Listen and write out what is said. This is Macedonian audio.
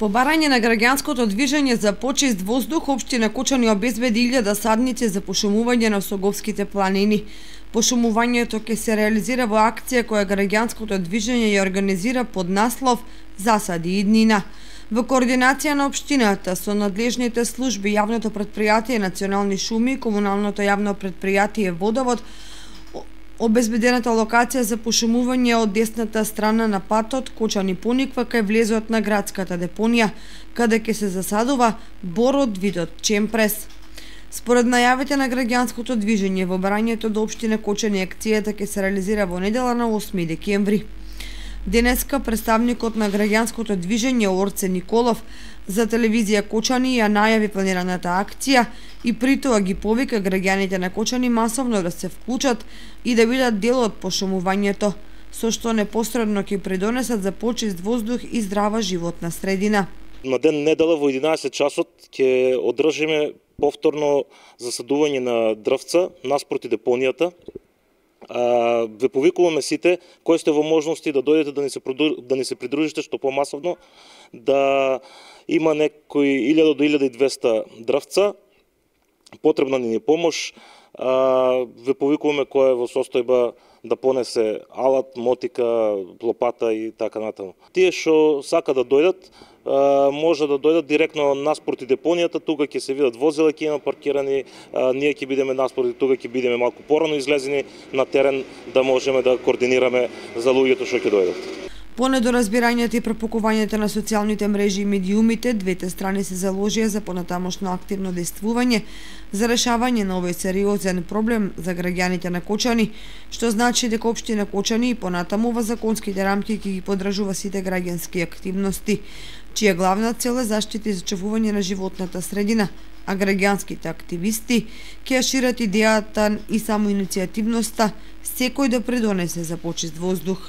По барање на граѓанското движење за почист воздух, општина Кочани обезбеди 1000 садници за пошумување на Соговските планини. Пошумувањето ќе се реализира во акција која граѓанското движење ја организира под наслов "Засади иднина". Во координација на општината со надлежните служби, јавното претпријатие Национални шуми и комуналното јавно претпријатие Водовод, обезбедената локација за пошумување од десната страна на патот Кочани Пониква кај влезот на градската депонија, каде ќе се засадува бор од видот чемпрес. Според најавите на граѓанското движење, во барањето до општина Кочани акцијата ќе се реализира во недела на 8 декември. Денеска представникот на граѓанското движење Орце Николов за телевизија Кочани ја најави планираната акција и при тоа ги повика граѓаните на Кочани масовно да се вклучат и да бидат дел од пошумувањето, со што непосредно ќе придонесат за почист воздух и здрава животна средина. На ден недела во 11 часот ќе одржиме повторно засадување на дрвца наспроти депонијата. Ве повикуваме сите кои сте во можности да дојдете да ни се придружите што помасовно, да има некои 1000 до 1200 дрвца, потребна ни е помош. Ве повикуваме кој е во состојба да понесе алат, мотика, лопата и така натаму. Тие што сака да дојдат, може да дојдат директно наспроти депонијата, тука ќе се видат возила, ќе има паркирани, ние ќе бидеме наспроти, тука ќе бидеме малку порано излезени на терен да можеме да координираме за луѓето што ќе дојдат. По недоразбирањето и пропукувањето на социјалните мрежи и медиумите, двете страни се заложија за понатамошно активно действување за решавање на овој сериозен проблем за граѓаните на Кочани, што значи дека општина Кочани и понатаму во законските рамки ќе ги поддржува сите граѓански активности, чија главна цел е заштита и зачувување на животната средина, а граѓанските активисти ќе ја шират идејата и самоиницијативноста секој да придонесе за почист воздух.